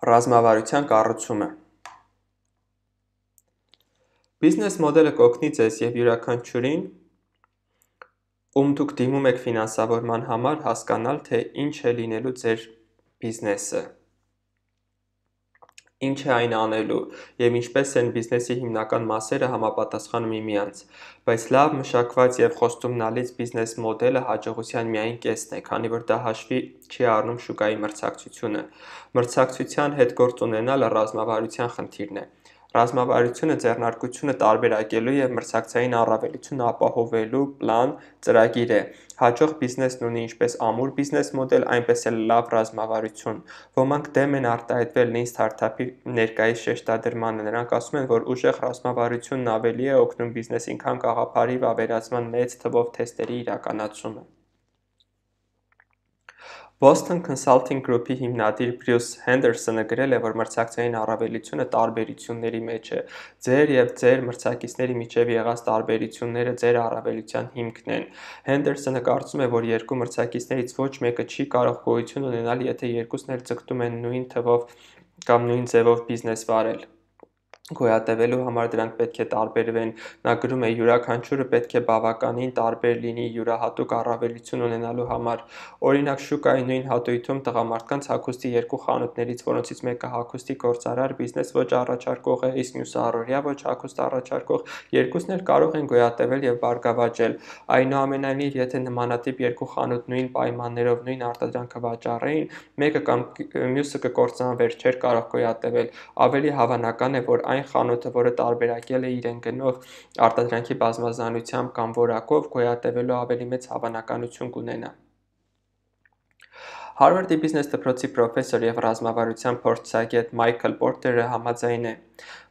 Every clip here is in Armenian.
Ռազմավարության կառուցումը Բիզնես մոդելը կօգնի ձեզ և յուրաքանչյուրին, ում դուք դիմում եք ֆինանսավորման համար, հասկանալ, թե ինչ է լինելու ձեր բիզնեսը, ինչ է այն անելու և ինչպես են բիզնեսի հիմնական մասերը համապատասխանում միմյանց, բայց լավ մշակված և խոստումնալից բիզնես մոդելը հաջողության միայն կեսն է, քանի որ դա հաշվի չի առնում շուկայի մրցակցությունը։ Մրցակցության հետ գործ ունենալը ռազմավարության խնդիրն է։ Ռազմավարությունը ձեռնարկությունը տարբերակելու և մրցակցային առավելություն ապահովելու պլան, ծրագիր է։ Հաջող բիզնեսն ունի ինչպես ամուր բիզնես մոդել, այնպես էլ լավ ռազմավարություն։ Ոմանք դեմ են արտահայտվել Lean Startup-ի ներկայիս շեշտադրմանը։ Նրանք ասում են, որ ուժեղ ռազմավարությունն ավելի է օգնում բիզնեսին, քան գաղափարի վավերացման մեծ թվով թեստերի իրականացումը։ Boston Consulting Group-ի հիմնադիր Բրյուս Հենդերսոնը գրել է, որ մրցակցային առավելությունը տարբերությունների մեջ է։ Ձեր և ձեր մրցակիցների միջև եղած տարբերությունները ձեր առավելության հիմքն են։ Հենդերսոնը կարծում է, որ երկու մրցակիցներից ոչ մեկը չի կարող գոյություն ունենալ, եթե երկուսն էլ ձգտում են նույն թվով կամ նույն ձևով բիզնես վարել։ Գոյատևելու համար դրանք պետք է տարբերվեն։ Նա գրում է. յուրաքանչյուրը պետք է բավականին տարբեր լինի յուրահատուկ առավելություն ունենալու համար։ Օրինակ, շուկայի նույն հատույթում տղամարդկանց հագուստի երկու խանութներից, որոնցից մեկը հագուստի գործարար բիզնես ոճ առաջարկող է, իսկ մյուսը առօրյա ոճ հագուստ առաջարկող, երկուսն էլ կարող են գոյատևել և բարգավաճել։ Այնուամենայնիվ, եթե նմանատիպ երկու խանութ նույն պայմաններով նույն արտադրանքը վաճառեին, մեկը կամ մյուսը կկործանվեր, չէր կարող գոյատևել։ Ավելի հավանական է, որ այն խանութը, որը տարբերակել է իրեն գնով արտադրանքի բազմազանությամբ կամ որակով, գոյատևելու ավելի մեծ հավանականություն կունենա։ Հարվարդի բիզնես դպրոցի պրոֆեսոր և ռազմավարության փորձագետ Մայքլ Պորտերը համաձայն է.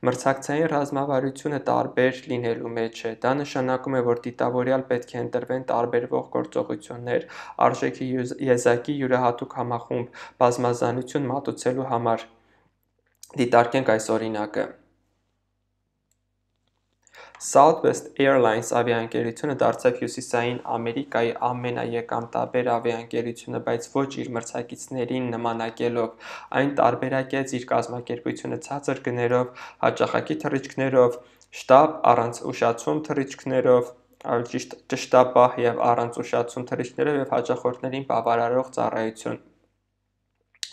մրցակցային ռազմավարությունը տարբեր լինելու մեջ է։ Դա նշանակում է, որ դիտավորյալ պետք է ընտրվեն տարբերվող գործողություններ, արժեքի եզակի յուրահատուկ համախումբ, բազմազանություն մատուցելու համար։ Դիտարկենք այս օրինակը։ Southwest Airlines ավիաընկերությունը դարձավ Հյուսիսային Ամերիկայի ամենաեկամտաբեր ավիաընկերությունը, բայց ոչ իր մրցակիցներին նմանակելով։ Այն տարբերակեց իր կազմակերպությունը ցածր գներով, հաճախակի թռիչքներով, շտապ առանց ուշացում թռիչքներով, ճշտապահ և առանց ուշացում թռիչքներով և հաճախորդներին բավարարող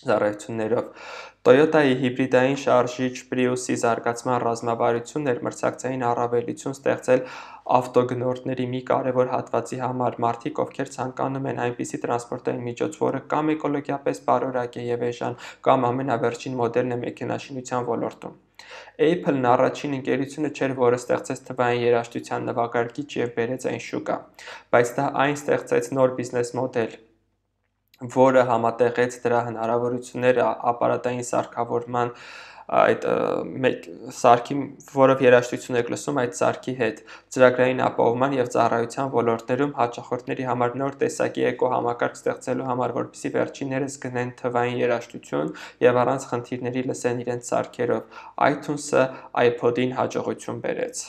ծառայություններով։ Տոյոտայի հիբրիդային շարժիչ Prius-ի զարգացման ռազմավարությունն էր մրցակցային առավելություն ստեղծել ավտոգնորդների մի կարևոր հատվածի համար՝ մարդիկ, ովքեր ցանկանում են այնպիսի տրանսպորտային միջոց, որը կամ էկոլոգիապես բարորակ է և էժան, կամ ամենավերջին մոդելն է մեքենաշինության ոլորտում։ Apple-ն առաջին ընկերությունը չէր, որը ստեղծեց թվային երաժշտության նվագարկիչ և բերեց այն շուկա, բայց դա այն ստեղծեց նոր բիզնես մոդել, որը համատեղեց դրա հնարավորությունները ապարատային սարքավորման այդ սարքի, որով երաժշտություն եք լսում, այդ սարքի հետ, ծրագրային ապահովման և ծառայության ոլորտներում հաճախորդների համար նոր տեսակի էկոհամակարգ ստեղծելու համար, որպեսզի վերջիններս գնեն թվային երաժշտություն և առանց խնդիրների լսեն իրենց սարքերով։ iTunes-ը iPod-ին հաջողություն բերեց։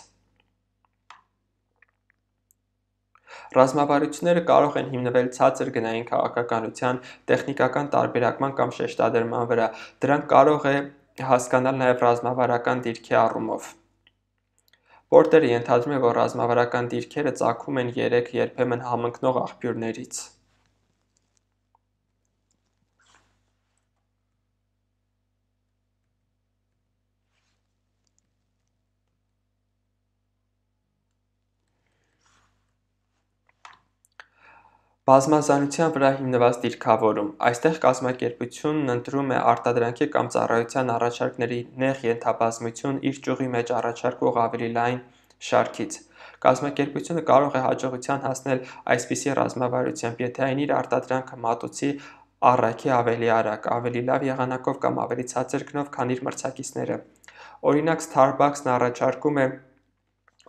Ռազմավարությունները կարող են հիմնվել ցածր գնային քաղաքականության, տեխնիկական տարբերակման կամ շեշտադրման վրա։ Դրանք կարող է հասկանալ նաև ռազմավարական դիրքի առումով։ Պորտերը ենթադրում է, որ ռազմավարական դիրքերը ծագում են երեք երբեմն համընկնող աղբյուրներից։ Բազմազանության վրա հիմնված դիրքավորում։ Այստեղ կազմակերպությունն ընտրում է արտադրանքի կամ ծառայության առաջարկների նեղ ենթաբազմություն իր ճյուղի մեջ առաջարկվող ավելի լայն շարքից։ Կազմակերպությունը կարող է հաջողության հասնել այսպիսի ռազմավարությամբ, եթե այն իր արտադրանքը մատուցի առաքի ավելի արագ, ավելի լավ եղանակով կամ ավելի ցածր գնով, քան իր մրցակիցները։ Օրինակ, Starbucks-ն առաջարկում է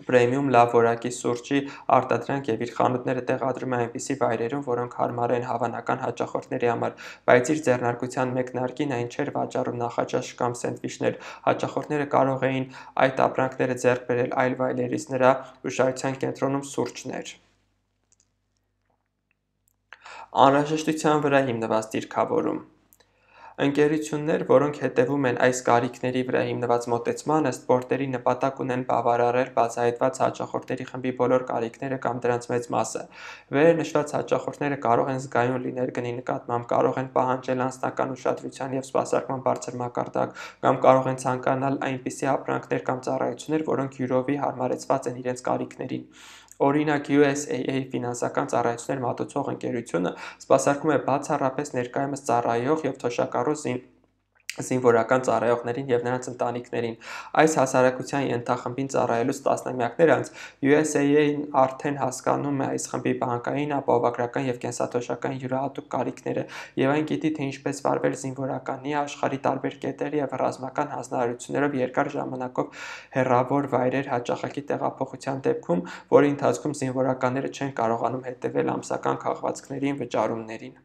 պրեմիում լավ որակի սուրճի արտադրանք և իր խանութները տեղադրում է այնպիսի վայրերում, որոնք հարմար են հավանական հաճախորդների համար, բայց իր ձեռնարկության մեկնարկին այն չէր վաճառում նախաճաշ կամ սենդվիչներ։ Հաճախորդները կարող էին այդ ապրանքները ձեռք բերել այլ վայրերից, նրա ուշադրության կենտրոնում սուրճն էր։ Անհրաժեշտության վրա հիմնված դիրքավորում։ Ընկերություններ, որոնք հետևում են այս կարիքների վրա հիմնված մոտեցմանը, սպորտերի նպատակ ունեն բավարարել բացահայտված հաճախորդների խմբի բոլոր կարիքները կամ դրանց մեծ մասը։ Վերը նշված հաճախորդները կարող են զգայուն լինել գնի նկատմամբ, կարող են պահանջել անձնական ուշադրության և սպասարկման բարձր մակարդակ, կամ կարող են ցանկանալ այնպիսի ապրանքներ կամ ծառայություններ, որոնք յուրովի հարմարեցված են իրենց կարիքներին։ Օրինակ, USAA ֆինանսական ծառայություններ մատուցող ընկերությունը սպասարկում է բացառապես ներկայումս ծառայող և թոշակառու զինվորական ծառայողներին և նրանց ընտանիքներին։ Այս հասարակության ենթախմբին ծառայելուց տասնամյակներ անց USAA-ն արդեն հասկանում է այս խմբի բանկային, ապահովագրական և կենսաթոշակային յուրահատուկ կարիքները, և այն գիտի, թե ինչպես վարվել զինվորականի, աշխարհի տարբեր կետեր և ռազմական հանձնարարություններով երկար ժամանակով հեռավոր վայրեր հաճախակի տեղափոխության դեպքում, որի ընթացքում զինվորականները չեն կարողանում հետևել ամսական քաղվածքներին, վճարումներին։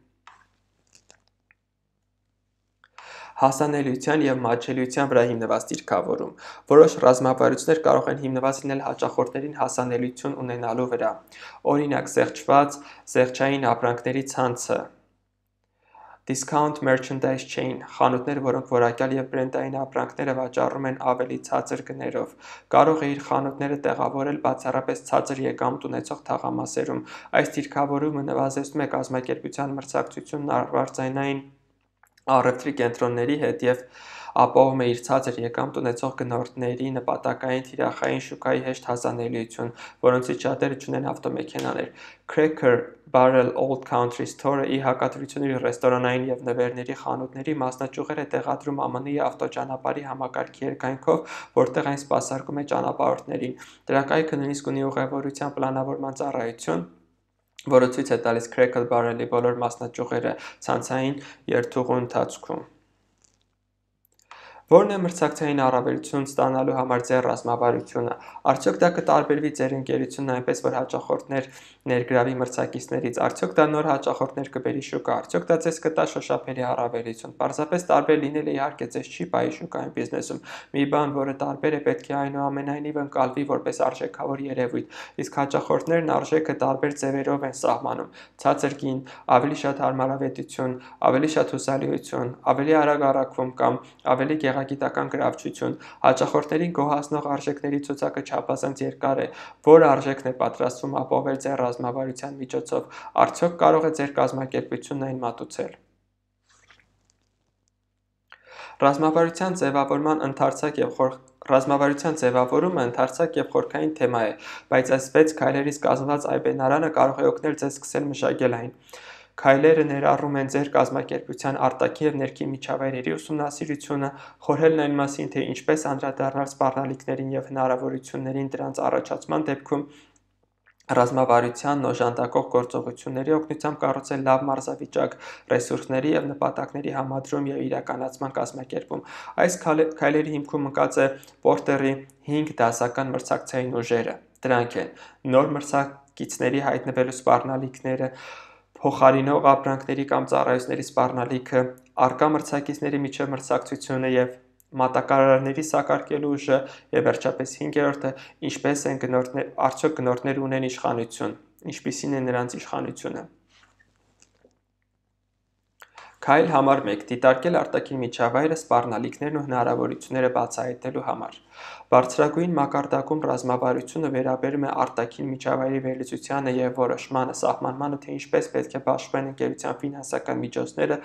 Հասանելիության և մատչելիության վրա հիմնված դիրքավորում։ Որոշ ռազմավարություններ կարող են հիմնված լինել հաճախորդներին հասանելիություն ունենալու վրա։ Օրինակ, զեղչային ապրանքների ցանցը (Discount Merchandise Chain) խանութներ, որոնք որակյալ և բրենդային ապրանքները վաճառում են ավելի ցածր գներով, կարող է իր խանութները տեղավորել բացառապես ցածր եկամուտ ունեցող թաղամասերում։ Այս դիրքավորումը նվազեցնում է կազմակերպության մրցակցությունն արվարձանային առևտրի կենտրոնների հետ և ապահովում է իր ցածր եկամուտ ունեցող գնորդների նպատակային թիրախային շուկայի հեշտ հասանելիություն, որոնցից շատերը չունեն ավտոմեքենաներ։ Cracker Barrel Old Country Store-ը, ի հակադրություն իր ռեստորանային և նվերների խանութների, մասնաճյուղեր է տեղադրում ԱՄՆ-ի ավտոճանապարհի համակարգի երկայնքով, որտեղ այն սպասարկում է ճանապարհորդներին։ Դրա կայքը նույնիսկ ունի ուղևորության պլանավորման ծառայություն, որը ցույց է տալիս Cracker Barrel-ի բոլոր մասնաճյուղերը ցանցային երթուղու ընթացքում։ Ո՞րն է մրցակցային առավելություն ստանալու համար ձեր ռազմավարությունը։ Արդյոք դա կտարբերվի ձեր ընկերությունն այնպես, որ հաճախորդներ ներգրավի մրցակիցներից։ Արդյոք դա նոր հաճախորդներ կբերի շուկա։ Արդյոք դա ձեզ կտա շոշափելի առավելություն։ Պարզապես տարբեր լինելը իհարկե ձեզ չի պահի շուկայում բիզնեսում։ Մի բան, որը տարբեր է, պետք է այնուամենայնիվ ընկալվի որպես արժեքավոր երևույթ, իսկ հաճախորդներն արժեքը տարբեր ձևերով են սահմանում՝ ցածր գին, ավելի շատ հարմարավետություն, ավելի շատ հուսալիություն, ավելի արագ առաքվում կամ ավելի գեղագիտական գրավչություն։ Հաճախորդներին գոհացնող արժեքների ցուցակը չափազանց երկար է։ Ո՞ր արժեքն է պատրաստվում ապահովել ձեր ռազմավարության միջոցով։ Արդյոք կարող է ձեր կազմակերպությունն այն մատուցել։ Ռազմավարության ձևավորումը ընդարձակ և խորքային թեմա է, բայց այս 6 քայլերից կազմված այբենարանը կարող է օգնել ձեզ սկսել մշակել այն։ Քայլերը ներառում են ձեր կազմակերպության արտաքին և ներքին միջավայրերի ուսումնասիրությունը, խորհելն այն մասին, թե ինչպես անդրադառնալ սպառնալիքներին և հնարավորություններին դրանց առաջացման դեպքում, ռազմավարությանն օժանդակող գործողությունների օգնությամբ կառուցել լավ մարզավիճակ, ռեսուրսների և նպատակների համադրում և իրականացման կազմակերպում։ Այս քայլերի հիմքում ընկած է Պորտերի 5 դասական մրցակցային ուժերը։ Դրանք են. նոր մրցակիցների հայտնվելու սպառնալիքները, փոխարինող ապրանքների կամ ծառայությունների սպառնալիքը, առկա մրցակիցների միջև մրցակցությունը և մատակարարների սակարկելու ուժը, և վերջապես 5-րդը, արդյոք գնորդները ունեն իշխանություն, ինչպիսին է նրանց իշխանությունը։ Քայլ համար 1. Դիտարկել արտաքին միջավայրը, սպառնալիքներն ու հնարավորությունները բացահայտելու համար։ Բարձրագույն մակարդակում ռազմավարությունը վերաբերում է արտաքին միջավայրի վերլուծությանը և որոշմանը, սահմանմանը, թե ինչպես պետք է բաշխվեն ընկերության ֆինանսական միջոցները,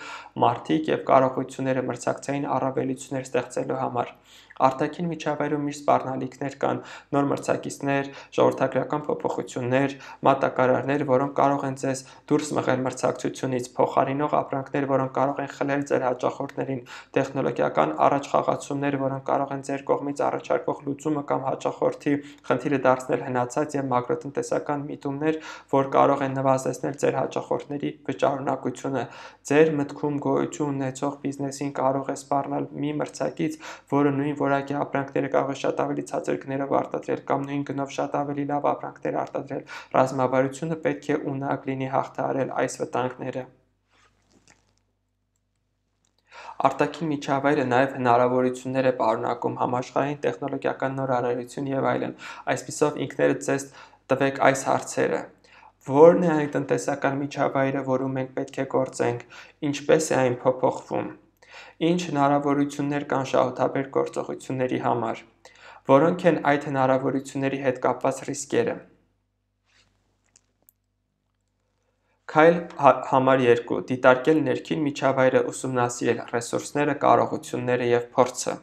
մարդիկ և կարողությունները մրցակցային առավելություններ ստեղծելու համար։ Արտաքին միջավայրում միշտ սպառնալիքներ կան՝ նոր մրցակիցներ, ժողովրդագրական փոփոխություններ, մատակարարներ, որոնք կարող են ձեզ դուրս մղել մրցակցությունից, փոխարինող ապրանքներ, որոնք կարող են խլել ձեր հաճախորդներին, տեխնոլոգիական առաջխաղացումներ, որոնք կարող են ձեր կողմից առաջարկվող լուծումը կամ հաճախորդի խնդիրը դարձնել հնացած, և մակրոտնտեսական միտումներ, որ կարող են նվազեցնել ձեր հաճախորդների վճարունակությունը։ Ձեր մտքում գոյություն ունեցող բիզնեսին կարող է սպառնալ մի մրցակից, որը նույն որակի ապրանքները կարող է շատ ավելի ցածր գներով արտադրել, կամ նույն գնով շատ ավելի լավ ապրանքներ արտադրել։ Ռազմավարությունը պետք է ունակ լինի հաղթահարել այս վտանգները։ Արտաքին միջավայրը նաև հնարավորություններ է պարունակում՝ համաշխարհային տեխնոլոգիական նոր արարություն և այլն։ Այսպիսով, ինքներդ ձեզ տվեք այս հարցերը. Ո՞րն է այն տնտեսական միջավայրը, որում մենք պետք է գործենք, ինչպե՞ս է այն փոփոխվում։ Ինչ հնարավորություններ կան շահութաբեր գործողությունների համար, որոնք են այդ հնարավորությունների հետ կապված ռիսկերը։ Քայլ համար 2. Դիտարկել ներքին միջավայրը, ուսումնասիրել ռեսուրսները, կարողությունները և փորձը։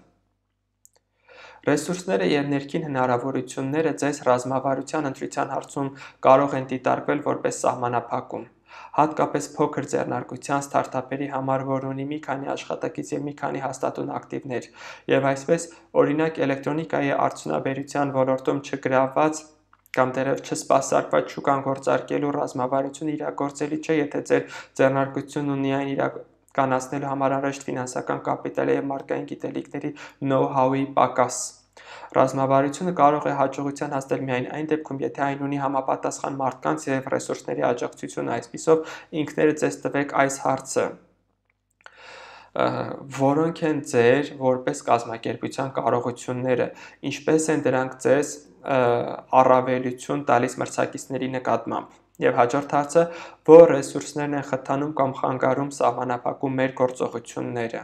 Ռեսուրսները և ներքին հնարավորությունները ձեզ ռազմավարության ընտրության հարցում կարող են դիտարկվել որպես սահմանափակում, հատկապես փոքր ձեռնարկության ստարտափերի համար, որ ունի մի քանի աշխատակից և մի քանի հաստատուն ակտիվներ, և այսպես, օրինակ, էլեկտրոնիկայի արդյունաբերության ոլորտում չգրավված կամ դեռևս չսպասարկված շուկան գործարկելու ռազմավարությունը իրագործելի չէ, եթե ձեր ձեռնարկությունն ունի այն իրականացնելու համար անհրաժեշտ ֆինանսական կապիտալի և մարդկային գիտելիքների know-how-ի պակաս։ Ռազմավարությունը կարող է հաջողության հասնել միայն այն դեպքում, եթե այն ունի համապատասխան մարդկանց և ռեսուրսների աջակցություն, այսպիսով ինքներդ ձեզ տվեք այս հարցը. որոնք են ձեր որպես կազմակերպության կարողությունները, ինչպես են դրանք ձեզ առավելություն տալիս մրցակիցների նկատմամբ։ Եվ հաջորդ հարցը, որ ռեսուրսներն են խթանում կամ խանգարում սահմանափակում մեր գործողությունները։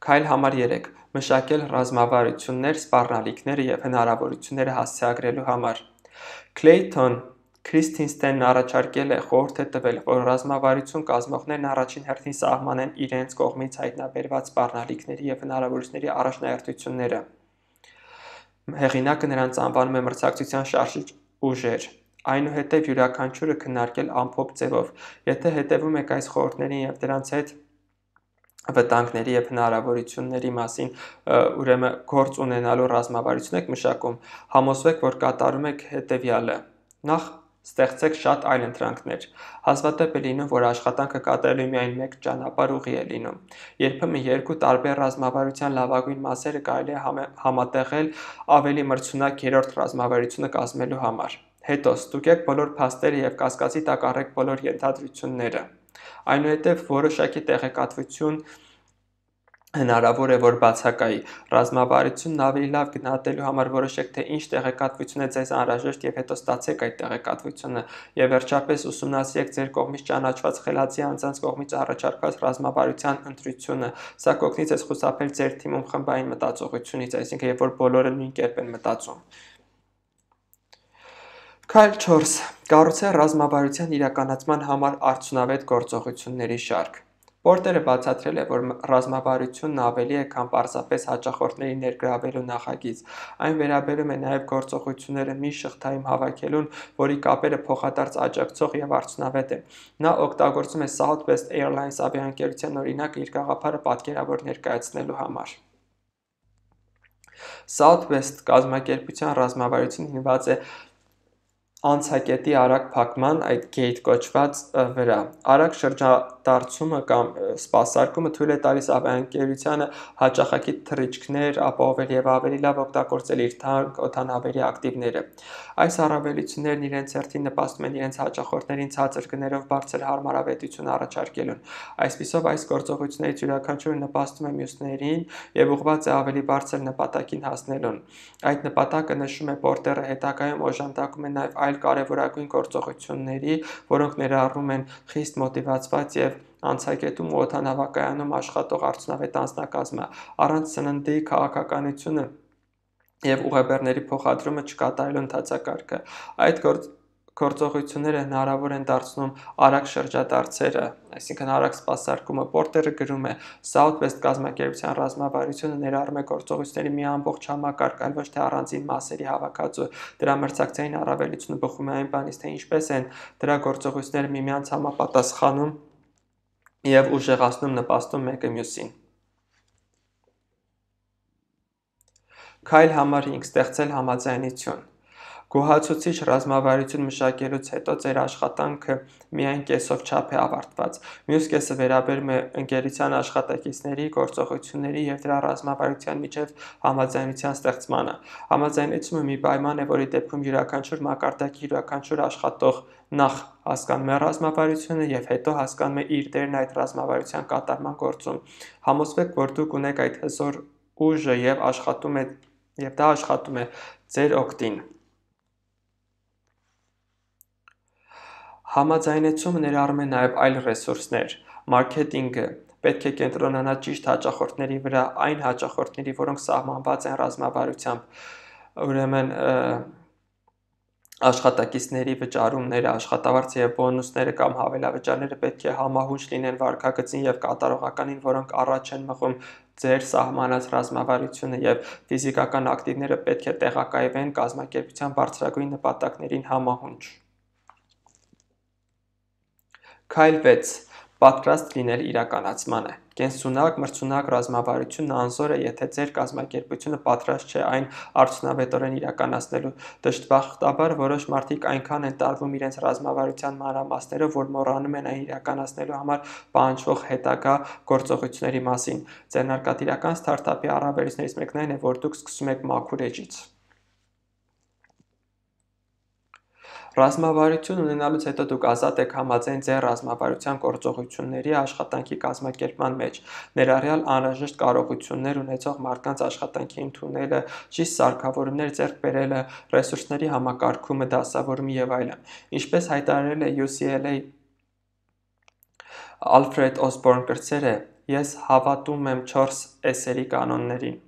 Քայլ համար 3. Մշակել ռազմավարություններ, սպառնալիքները և հնարավորությունները հասցեագրելու համար։ Քլեյթոն Քրիստինստենն առաջարկել է, խորհուրդ է տվել, որ ռազմավարություն կազմողներն առաջին հերթին սահմանեն իրենց կողմից հայտնաբերված սպառնալիքների և հնարավորությունների առաջնահերթությունները։ Հեղինակը նրանց անվանում է մրցակցության շարժիչ ուժեր, այնուհետև յուրաքանչյուրը քննարկել ամփոփ ձևով։ Եթե հետևում եք այս խորհուրդներին և դրանց հետ վտանգների և հնարավորությունների մասին ուրեմն գործ ունենալու ռազմավարություն եք մշակում, համոզվեք, որ կատարում եք հետևյալը. Նախ ստեղծեք շատ այլընտրանքներ։ Հազվադեպ է լինում, որ աշխատանքը կատարելու միայն մեկ ճանապարհ ուղի է լինում։ Երբեմն երկու տարբեր ռազմավարության լավագույն մասերը կարելի է համատեղել ավելի մրցունակ երրորդ ռազմավարությունը կազմելու համար։ Հետո ստուգեք բոլոր փաստերը և կասկածի տակ առեք բոլոր ենթադրությունները։ Այնուհետև որոշակի տեղեկատվություն հնարավոր է, որ բացակայի։ Ռազմավարությունն ավելի լավ գնահատելու համար որոշեք, թե ինչ տեղեկատվություն է ձեզ անհրաժեշտ և հետո ստացեք այդ տեղեկատվությունը, և վերջապես ուսումնասիրեք ձեր կողմից ճանաչված խելացի անձանց կողմից առաջարկված ռազմավարության ընտրությունը, սա կօգնի ձեզ խուսափել ձեր թիմում խմբային մտածողությունից, այսինքն երբ որ բոլորը նույն կերպ են մտածում։ Քայլ 4. Կառուցել ռազմավարության իրականացման համար արդյունավետ գործողությունների շարք։ Պորտերը բացատրել է, որ ռազմավարությունն ավելի է, քան պարզապես հաճախորդների ներգրավելու նախագիծ։ Այն վերաբերում է նաև գործողությունները մի շղթայում հավաքելուն, որի կապերը փոխադարձ աջակցող և արդյունավետ են։ Նա օգտագործում է Southwest Airlines ավիաընկերության օրինակը իր գաղափարը պատկերավոր ներկայացնելու համար։ Southwest կազմակերպության ռազմավարությունը հիմնված է անցակետի արագ փակման, այդ gate կոչված վրա։ Արագ շրջադարձումը կամ սպասարկումը թույլ է տալիս ավիաընկերությանը հաճախակի թռիչքներ ապահովել և ավելի լավ օգտագործել իր թանկ օդանավերի ակտիվները։ Այս առավելություններն իրենց հերթին նպաստում են իրենց հաճախորդներին ցածր գներով բարձր հարմարավետություն առաջարկելուն։ Այսպիսով, այս գործողություններից յուրաքանչյուրը նպաստում է մյուսներին և ուղղված է ավելի բարձր նպատակին հասնելուն։ Այդ նպատակը, նշում է Պորտերը, հետագայում օժանդակում է նաև այլ կարևորագույն գործողությունների, որոնք ներառում են խիստ մոտիվացված և անցակետում ու օդանավակայանում աշխատող արդյունավետ անձնակազմը, առանց սննդի քաղաքականությունը և ուղեբեռների փոխադրումը չկատարելու ընթացակարգը։ Այդ գործողությունները հնարավոր են դարձնում արագ շրջադարձերը, այսինքն արագ սպասարկումը։ Պորտերը գրում է. Southwest կազմակերպության ռազմավարությունը ներառում է գործողությունների մի ամբողջ համակարգ, այլ ոչ թե առանձին մասերի հավաքածու։ Դրա մրցակցային առավելությունը բխում է այն բանից, թե ինչպես են դրա գործողությունները միմյանց համապատասխանում և ուժեղացնում նպաստում մեկը մյուսին։ Քայլ համար 5. Ստեղծել համաձայնություն։ Գոհացուցիչ ռազմավարություն մշակելուց հետո ձեր աշխատանքը միայն կեսով չափ է ավարտված։ Մյուս կեսը վերաբերում է ընկերության աշխատակիցների, գործողությունների և դրա ռազմավարության միջև համաձայնության ստեղծմանը։ Համաձայնությունը մի պայման է, որի դեպքում յուրաքանչյուր մակարդակի յուրաքանչյուր աշխատող նախ հասկանում է ռազմավարությունը և հետո հասկանում է իր դերն այդ ռազմավարության կատարման գործում։ Համոզվեք, որ դուք ունեք այդ հզոր ուժը և դա աշխատում է ձեր օգտին։ Համաձայնեցումը ներառում է նաև այլ ռեսուրսներ։ Մարքեթինգը պետք է կենտրոնանա ճիշտ հաճախորդների վրա, այն հաճախորդների, որոնք սահմանված են ռազմավարությամբ, ուրեմն աշխատակիցների վճարումները, աշխատավարձը և բոնուսները կամ հավելավճարները պետք է համահունչ լինեն վարքագծին և կատարողականին, որոնք առաջ են մղում ձեր սահմանած ռազմավարությունը, և ֆիզիկական ակտիվները պետք է տեղակայվեն կազմակերպության բարձրագույն նպատակներին համահունչ։ Քայլ 6. Պատրաստ լինել իրականացմանը։ Կենսունակ, մրցունակ ռազմավարությունն անզոր է, եթե ձեր կազմակերպությունը պատրաստ չէ այն արդյունավետորեն իրականացնելու։ Դժբախտաբար, որոշ մարդիկ այնքան են տարվում իրենց ռազմավարության մանրամասներով, որ մոռանում են այն իրականացնելու համար պահանջվող հետագա գործողությունների մասին։ Ձեռնարկատիրական սթարթափի առավելություններից մեկն այն է, որ դուք սկսում եք մաքուր էջից։ Ռազմավարություն ունենալուց հետո դուք ազատ եք համաձայն ձեր ռազմավարության գործողությունների աշխատանքի կազմակերպման մեջ, ներառյալ անհրաժեշտ կարողություններ ունեցող մարդկանց աշխատանքի ընդունելը, ճիշտ սարքավորումներ ձեռք բերելը, ռեսուրսների համակարգումը, դասավորումը և այլն։ Ինչպես հայտարարել է UCLA Ալֆրեդ Օսբորն կրտսերը, ես հավատում եմ 4 S-երի կանոններին,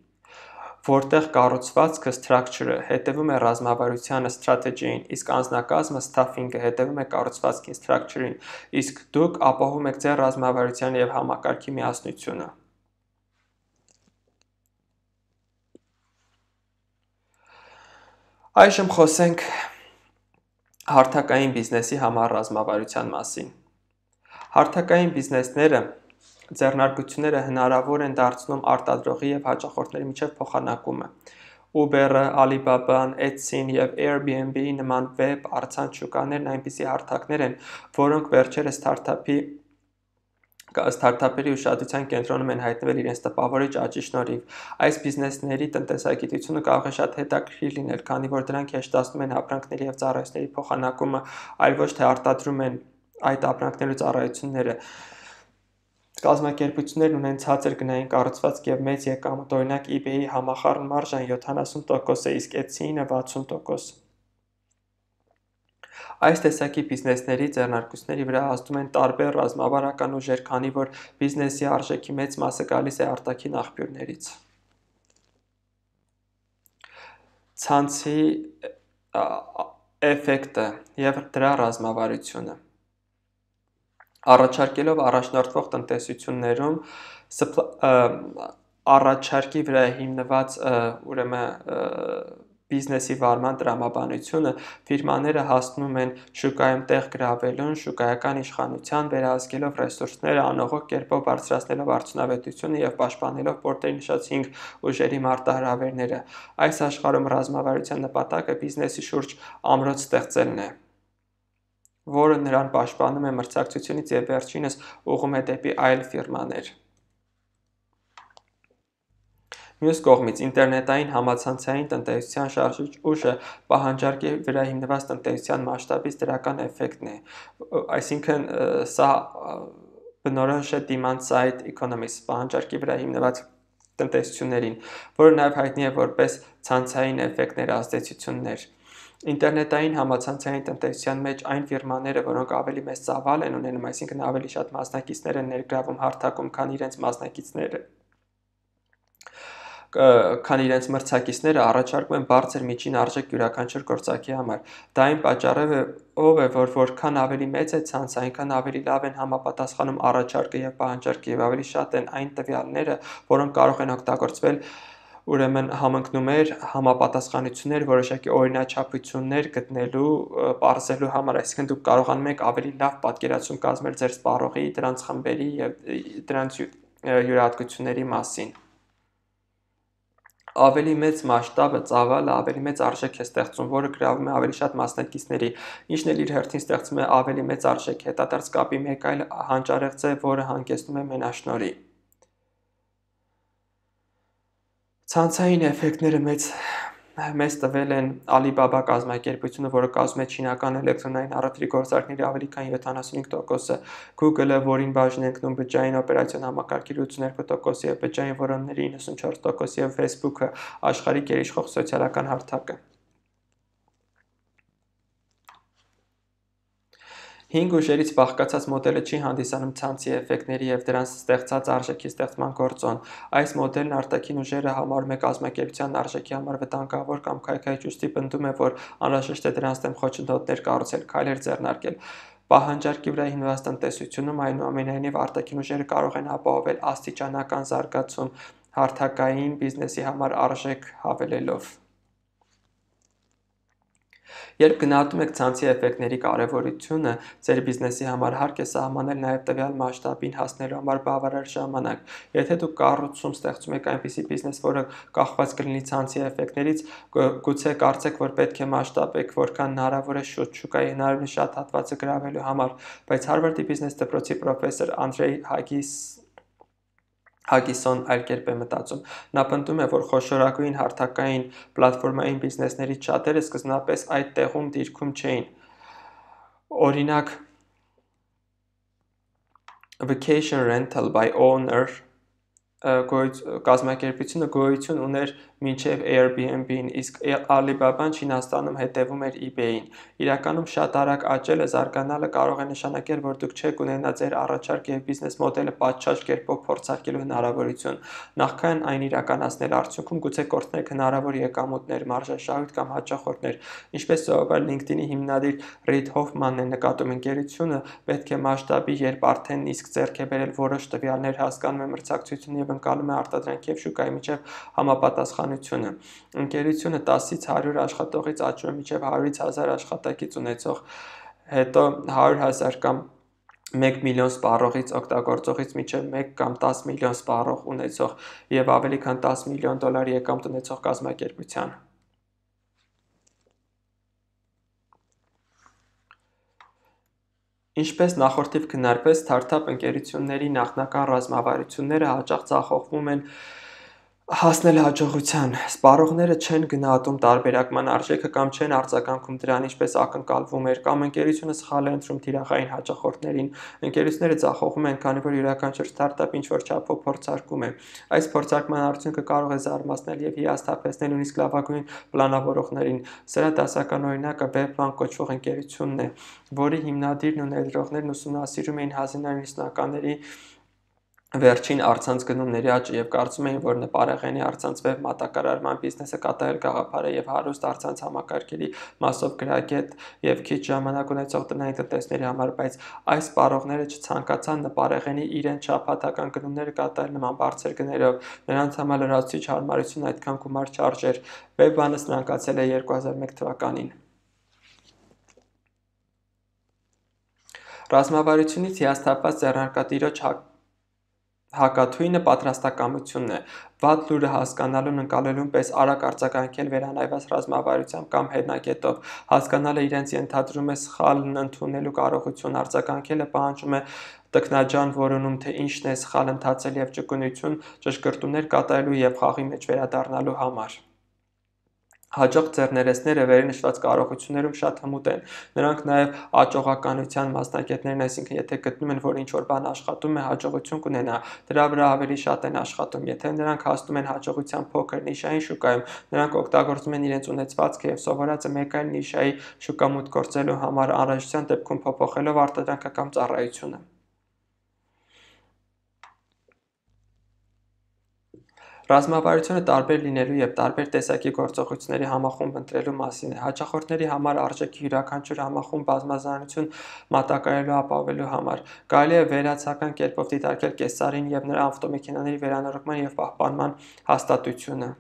որտեղ կառուցվածքը structure-ը հետևում է ռազմավարությանը strategy-ին, իսկ անձնակազմը staffing-ը հետևում է կառուցվածքին structure-ին, իսկ դուք ապահովում եք ձեր ռազմավարության և համակարգի միասնությունը։ Այժմ խոսենք հարթակային բիզնեսի համար ռազմավարության մասին։ Հարթակային բիզնեսները ձեռնարկությունները հնարավոր են դարձնում արտադրողի և հաճախորդների միջև փոխանակումը։ Uber-ը, Alibaba-ն, Etsy-ն և Airbnb-ի նման վեբ առցանց շուկաներն այնպիսի հարթակներ են, որոնք վերջերս ստարտափերի ուշադրության կենտրոնում են հայտնվել իրենց տպավորիչ աճի շնորհիվ։ Այս բիզնեսների տնտեսագիտությունը կարող է շատ հետաքրքիր լինել, քանի որ դրանք հեշտացնում են ապրանքների և ծառայությունների փոխանակումը, այլ ոչ թե արտադրում են այդ ապրանքներն ու ծառայությունները։ Կազմակերպություններն ունեն ցածր գնային կառուցվածք և մեծ եկամուտ, օրինակ eBay-ի համախառն մարժան 70% է, իսկ Etsy-ինը 60%։ Այս տեսակի բիզնեսների ձեռնարկությունների վրա ազդում են տարբեր ռազմավարական ուժեր, քանի որ բիզնեսի արժեքի մեծ մասը գալիս է արտաքին աղբյուրներից։ Ցանցի էֆեկտը և դրա ռազմավարությունը։ Առաջարկելով առաջնորդվող տնտեսություններում առաջարկի վրա հիմնված բիզնեսի վարման տրամաբանությունը, ֆիրմաները հասնում են շուկայում տեղ գրավելուն, շուկայական իշխանության, վերահսկելով ռեսուրսները, անողոք կերպով բարձրացնելով արդյունավետությունը և պաշտպանելով պորտերի նշած 5 ուժերի մարտահրավերները։ Այս աշխարհում ռազմավարության նպատակը բիզնեսի շուրջ ամրոց ստեղծելն է, որը նրան պաշտպանում է մրցակցությունից և վերջինս ուղղում է դեպի այլ ֆիրմաներ։ Մյուս կողմից, ինտերնետային համացանցային տնտեսության շարժիչ ուժը պահանջարկի վրա հիմնված տնտեսության մասշտաբից դրական էֆեկտն է, այսինքն սա բնորոշ է demand-side economics պահանջարկի վրա հիմնված տնտեսություններին, որը նաև հայտնի է որպես ցանցային էֆեկտներ ազդեցություններ։ Ինտերնետային համացանցային տնտեսության մեջ այն ֆիրմաները, որոնք ավելի մեծ ծավալ են ունենում, այսինքն ավելի շատ մասնակիցներ են ներգրավում հարթակում, քան իրենց մրցակիցները, առաջարկում են բարձր միջին արժեք յուրաքանչյուր գործարքի համար։ Դա այն պատճառով է, որ որքան ավելի մեծ է ցանցը, այնքան ավելի լավ են համապատասխանում առաջարկը և պահանջարկը, և ավելի շատ են այն տվյալները, որոնք կարող են օգտագործվել համընկնումներ, համապատասխանություններ, որոշակի օրինաչափություններ գտնելու, պարզելու համար, այսինքն դուք կարողանում եք ավելի լավ պատկերացում կազմել ձեր սպառողի, դրանց խմբերի և դրանց յուրահատկությունների մասին։ Ավելի մեծ մասշտաբը, ծավալը ավելի մեծ արժեք է ստեղծում, որը գրավում է ավելի շատ մասնակիցների, ինչն էլ իր հերթին ստեղծում է ավելի մեծ արժեք։ Հետադարձ կապի մեկ այլ հանճարեղձ է, որը հանգեցնում է մենաշնորհի։ Ցանցային էֆեկտները մեզ տվել են Alibaba կազմակերպությունը, որը կազմում է չինական էլեկտրոնային առևտրի գործարքների ավելի քան 75%-ը, Google-ը, որին բաժին է ընկնում բջջային օպերացիոն համակարգերի 82% և բջջային որոնների 94% և Facebook-ը, աշխարհի գերիշխող սոցիալական հարթակը։ Հինգ ուժերից բաղկացած մոդելը չի հանդիսանում ցանցի էֆեկտների և դրանց ստեղծած արժեքի ստեղծման գործոն։ Այս մոդելն արտաքին ուժերը համարում է կազմակերպության արժեքի համար վտանգավոր կամ քայքայիչ, ուստի պնդում է, որ անհրաժեշտ է դրանց դեմ խոչընդոտներ կառուցել, քայլեր ձեռնարկել։ Պահանջարկի վրա հիմնված տնտեսությունում, այնուամենայնիվ, արտաքին ուժերը կարող են ապահովել աստիճանական զարգացում հարթակային բիզնեսի համար արժեք հավելելով։ Երբ գնահատում եք ցանցի էֆեկտների կարևորությունը, ձեր բիզնեսի համար հարկ է սահմանել նաև տվյալ մասշտաբին հասնելու համար բավարար ժամանակ։ Եթե դուք կառուցում ստեղծում եք այնպիսի բիզնես, որը կախված կլինի ցանցի էֆեկտներից, գուցե կարծեք, որ պետք է մասշտաբեք որքան հնարավոր է շուտ շուկայի հնարավորինս շատ հատվածը գրավելու համար, բայց Հարվարդի բիզնես դպրոցի պրոֆեսոր Անդրեյ Հագիսոն այլ կերպ է մտածում։ Նա պնդում է, որ խոշորագույն հարթակային պլատֆորմային բիզնեսներից շատերը սկզբնապես այդ տեղում դիրքում չէին։ Օրինակ, Vacation Rental by Owner կազմակերպությունը գոյություն ուներ մինչև Airbnb-ն, իսկ Alibaba-ն Չինաստանում հետևում էր eBay-ին։ Իրականում շատ արագ աճելը, զարգանալը կարող է նշանակել, որ դուք չեք ունենա ձեր առաջարկ և բիզնես մոդելը պատշաճ կերպով փորձարկելու հնարավորություն։ Նախքան այն իրականացնել, արդյունքում գուցե կորցնեք հնարավոր եկամուտներ, մարժաշահույթ կամ հաճախորդներ։ Ինչպես սովորաբար LinkedIn-ի հիմնադիր Ռիդ Հոֆմանն է նկատում, ընկերությունը պետք է մասշտաբի, երբ արդեն իսկ ձեռք է բերել որոշ տվյալներ, հասկանում է մրցակցությունը և ընկալում է արտադրանքի և շուկայի միջև համապատասխանությունը։ Ընկերությունը 10-ից 100 աշխատողից աճում է մինչև 100-ից 1000 աշխատակից ունեցող, հետո 100,000 կամ 1 միլիոն սպառողից օգտագործողից մինչև 1 կամ 10 միլիոն սպառող ունեցող և ավելի քան 10 միլիոն դոլար եկամուտ ունեցող կազմակերպության։ Ինչպես նախորդիվ քննարկվեց, սթարթափ ընկերությունների նախնական ռազմավարությունները հաճախ ձախողվում են հասնել հաջողության։ Սպառողները չեն գնահատում տարբերակման արժեքը կամ չեն արձագանքում դրան, ինչպես ակնկալվում էր, կամ ընկերությունը սխալ է ընտրում թիրախային հաճախորդներին։ Ընկերությունները ձախողվում են, քանի որ յուրաքանչյուր սթարթափ ինչ-որ չափով փորձարկում է։ Այս փորձարկման արդյունքը կարող է զարմացնել և հիասթափեցնել նույնիսկ լավագույն պլանավորողներին։ Սրա դասական օրինակը Webvan կոչվող ընկերությունն է, որի հիմնադիրն ու ներդրողներն ուսումնասիրում էին 1990-ականների վերջին առցանց գնումների աճը և կարծում էին, որ նպարեղենի առցանց վեբ մատակարարման բիզնեսը կատարել գաղափար է և հարուստ առցանց համակարգերի մասով գրագետ և քիչ ժամանակ ունեցող տնային տնտեսների համար, բայց այս սպառողները չցանկացան նպարեղենի իրենց շաբաթական գնումները կատարել նման բարձր գներով։ Նրանց համար լրացուցիչ հարմարությունն այդքան գումար չարժեր։ Webvan-ը սնանկացել է 2001 թվականին։ Ռազմավարությունից հիասթափված ձեռնարկատիրոջ հակաթույնը պատրաստակամությունն է։ Վատ լուրը հասկանալուն, ընկալելուն պես արագ արձագանքել վերանայված ռազմավարությամբ կամ հետնագետով, հասկանալը իրենց ենթադրում է սխալն ընդունելու կարողություն, արձագանքելը պահանջում է տքնաջան որոնում, թե ինչն է սխալ ընթացել և ճկունություն, ճշգրտումներ կատարելու և խաղի մեջ վերադառնալու համար։ Հաջող ձեռներեցները վերնշված կարողություններում շատ հմուտ են։ Նրանք նաև աճողականության մասնագետներ են, այսինքն եթե գտնում են, որ ինչ-որ բան աշխատում է, հաջողություն կունենա, դրա վրա ավելի շատ են աշխատում։ Եթե նրանք հասնում են հաջողության փոքր նիշային շուկայում, նրանք օգտագործում են իրենց ունեցվածքը և սովորածը մեկ այլ նիշայի շուկա մուտք գործելու համար, անհրաժեշտության դեպքում փոփոխելով արտադրանքը կամ ծառայությունը։ Ռազմավարությունը տարբեր լինելու և տարբեր տեսակի գործողությունների համախումբ ընտրելու մասին է։ Հաճախորդների համար արժեքի յուրաքանչյուր համախումբ բազմազանություն մատակարարելու ապահովելու համար։ Կարելի է վերացական կերպով դիտարկել կեսարին և նրա ավտոմեքենաների վերանորոգման և պահպանման հաստատությունը։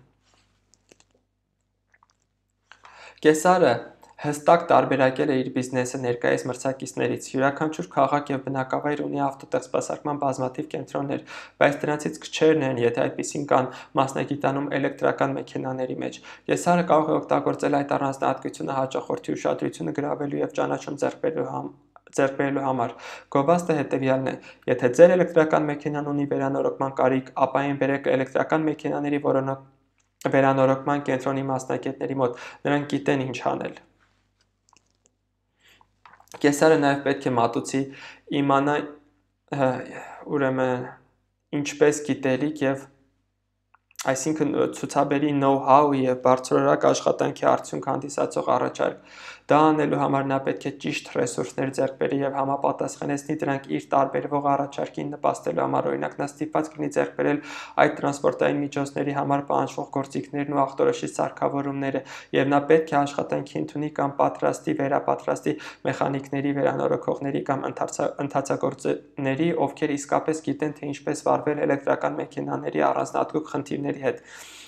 Կեսարը հստակ տարբերակել է իր բիզնեսը ներկայիս մրցակիցներից։ Յուրաքանչյուր քաղաք և բնակավայր ունի ավտոտեղսպասարկման բազմաթիվ կենտրոններ, բայց դրանցից քչերն են, եթե այդպիսին կան, մասնագիտանում էլեկտրական մեքենաների մեջ։ Կեսարը կարող է օգտագործել այդ առանձնահատկությունը հաճախորդի ուշադրությունը գրավելու և ճանաչում ձեռք բերելու համար։ Գովազդը հետևյալն է. Եթե ձեր էլեկտրական մեքենան ունի վերանորոգման կարիք, ապա այն բերեք էլեկտրական մեքենաների վերանորոգման կենտրոնի մասնագետների մոտ, նրանք գիտեն ինչ անել։ Կեսարը նաև պետք է մատուցի իմանա ինչպես գիտելիք և այսինքն ցուցաբերի know-how և բարձրորակ աշխատանքի արդյունք հանդիսացող առաջարկ։ Դա անելու համար նա պետք է ճիշտ ռեսուրսներ ձեռք բերի եւ համապատասխանեցնի դրանք իր տարբերվող առաջարկին նպաստելու համար։ Օրինակ, նա ստիպված կլինի ձեռք բերել այդ տրանսպորտային միջոցների համար պահանջվող գործիքներն ու ախտորոշիչ սարքավորումները, եւ նա պետք է աշխատանքի ընդունի կամ պատրաստի, վերապատրաստի մեխանիկների, վերանորոգողների կամ ընթացագործների, ովքեր իսկապես գիտեն, թե ինչպես վարվել էլեկտրական մեքենաների առանձնահատուկ խնդիրների հետ։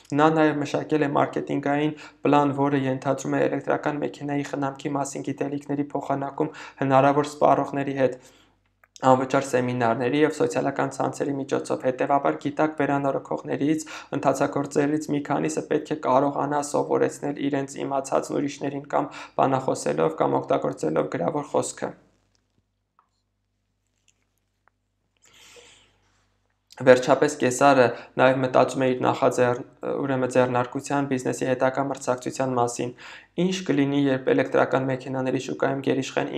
Նա նաև մշակել է մարքեթինգային պլան, որը ենթադրում է էլեկտրական մեքենայի խնամքի մասին գիտելիքների փոխանակում հնարավոր սպառողների հետ անվճար սեմինարների եւ սոցիալական ցանցերի միջոցով։ Հետևաբար, գիտակ վերանորոգողներից, ընթացագործներից մի քանիսը պետք է կարողանա սովորեցնել իրենց իմացածն ուրիշներին կամ բանախոսելով կամ օգտագործելով գրավոր խոսքը։ Վերջապես Կեսարը նաև մտածում է իր ձեռնարկության բիզնեսի հետագա մրցակցության մասին։ Ինչ կլինի, երբ էլեկտրական մեքենաների շուկայում գերիշխեն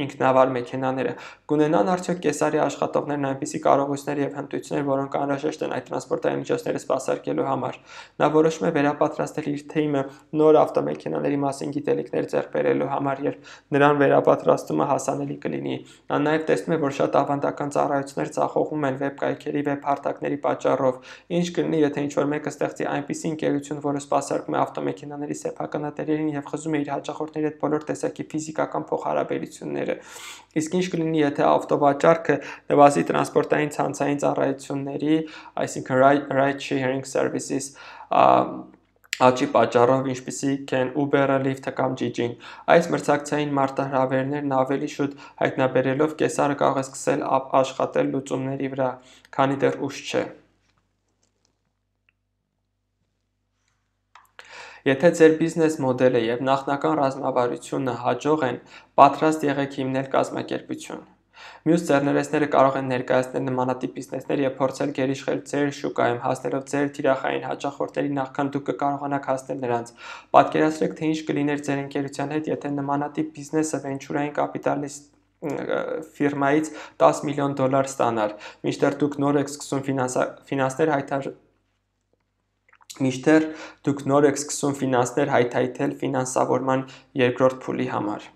ինքնավար մեքենաները, կունենան արդյոք Կեսարի աշխատողներն այնպիսի կարողություններ եւ հմտություններ, որոնք անհրաժեշտ են այդ տրանսպորտային միջոցները սպասարկելու համար։ Նա որոշում է վերապատրաստել իր թիմը նոր ավտոմեքենաների մասին գիտելիքներ ձեռք բերելու համար, երբ նրան վերապատրաստումը հասանելի կլինի։ Նա նաև տեսնում է, որ շատ ավանդական ծառայություններ ձախողվում են վեբ-կայքերի, վեբ-հարթակների պատճառով։ Ինչ կլինի, եթե ինչ-որ մեկը ստեղծի այնպիսի ընկերություն, որը սպասարկում է ավտոմեքենաների սեփականատերերին եւ խզում է իր հաճախորդների հետ բոլոր տեսակի ֆիզիկական փոխհարաբերությունները։ Իսկ ինչ կլինի, եթե ավտովաճառքը նվազի տրանսպորտային ցանցային ծառայությունների, այսինքն ride-sharing services, աճի պատճառով, ինչպիսիք են Uber-ը, Lyft-ը կամ Gigi-ն։ Այս մրցակցային մարտահրավերներն ավելի շուտ հայտնաբերելով Կեսարը կարող է սկսել աշխատել լուծումների վրա, քանի դեռ ուշ չէ։ Եթե ձեր բիզնես մոդելը եւ նախնական ռազմավարությունը հաջող են, պատրաստ եղեք հիմնել կազմակերպություն։ Մյուս ձեռներեցները կարող են ներկայացնել նմանատիպ բիզնեսներ եւ փորձել գերիշխել ձեր շուկայում, հասնելով ձեր թիրախային հաճախորդներին նախքան դուք կկարողանաք հասնել նրանց։ Պատկերացրեք, թե ինչ կլիներ ձեր ընկերության հետ, եթե նմանատիп բիզնեսը վենչուրային կապիտալիստ ֆիրմայից $10 միլիոն ստանար, մինչդեռ դուք նոր եք սկսում ֆինանսներ հայթայթել ֆինանսավորման երկրորդ փուլի համար։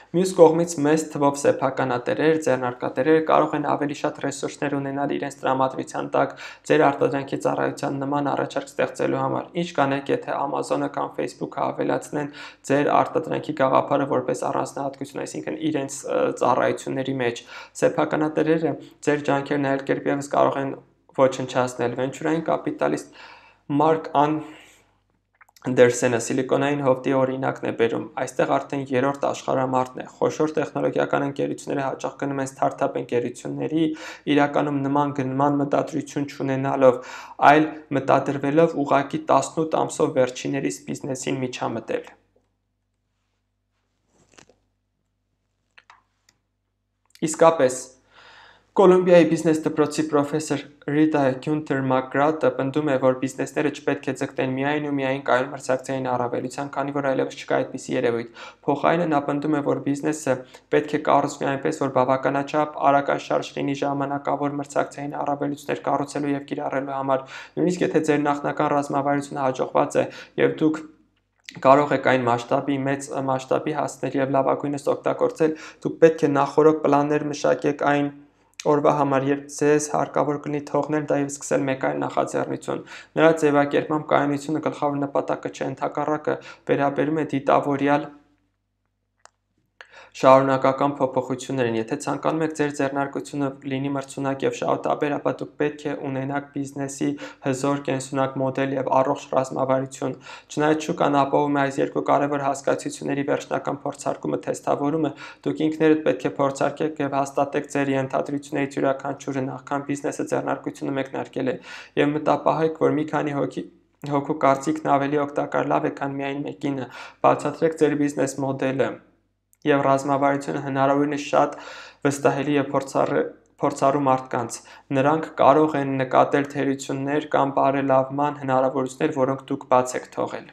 Մյուս կողմից, մեծ թվով սեփականատերեր, ձեռնարկատերերը կարող են ավելի շատ ռեսուրսներ ունենալ իրենց տրամադրության տակ ձեր արտադրանքի ծառայության նման առաջարկ ստեղծելու համար։ Ինչ կանեք, եթե Amazon-ը կամ Facebook-ը ավելացնեն ձեր արտադրանքի գաղափարը որպես առանձնահատկություն, այսինքն իրենց ծառայությունների մեջ։ Սեփականատերերը ձեր ջանքերն այլ կերպ ևս կարող են ոչնչացնել։ Վենչուրային կապիտալիստ Մարկ Անդերսենը Սիլիկոնային հովտի օրինակն է բերում։ Այստեղ արդեն երրորդ աշխարհամարտն է։ Խոշոր տեխնոլոգիական ընկերությունները հաճախ գնում են ստարտափ ընկերությունների, իրականում նման գնման մտադրություն չունենալով, այլ մտադրվելով ուղղակի 18 ամսով վերջիններիս բիզնեսին միջամտել։ Իսկապես, Կոլումբիայի բիզնես դպրոցի պրոֆեսոր Ռիտա Գյունթեր Մակգրատը պնդում է, որ բիզնեսները չպետք է ձգտեն միայն ու միայն կայուն մրցակցային առավելության, քանի որ այլևս չկա այդպիսի երևույթ։ Փոխարենը նա պնդում է, որ բիզնեսը պետք է կառուցվի այնպես, որ բավականաչափ արագաշարժ լինի ժամանակավոր մրցակցային առավելություններ կառուցելու եւ կիրառելու համար։ Նույնիսկ եթե ձեր նախնական ռազմավարությունը հաջողված է եւ դուք կարող եք այն մեծ մասշտաբի հասնել եւ լավագույնս օգտագործել, դուք պետք է նախօրոք պլաններ մշակեք այն օրվա համար, երբ ձեզ հարկավոր կլինի թողնել դա եւ սկսել մեկ այլ նախաձեռնություն։ Նրա ձևակերպմամբ կայունությունը գլխավոր նպատակը չէ, ընդհակառակը վերաբերում է դիտավորյալ շարունակական փոփոխություններին։ Եթե ցանկանում եք ձեր ձեռնարկությունը լինի մրցունակ եւ շահութաբեր, ապա դուք պետք է ունենաք բիզնեսի հզոր կենսունակ մոդել եւ առողջ ռազմավարություն։ Չնայած շուկան ապահովում է այս երկու կարևոր հասկացությունների վերջնական փորձարկումը թեստավորումը, դուք ինքներդ պետք է փորձարկեք եւ հաստատեք ձեր ենթադրություններից յուրաքանչյուրը նախքան բիզնեսը ձեռնարկությունը մեկնարկել է եւ մտապահեք, որ մի քանի հոգու կարծիքն ավելի օգտակար լավ է, քան միայն մեկինը։ Բացատրեք ձեր բիզնես մոդելը եւ ռազմավարությունը հնարավորինս շատ վստահելի եւ փորձառու մարդկանց։ Նրանք կարող են նկատել թերություններ կամ բարելավման հնարավորություններ, որոնք դուք բաց եք թողել։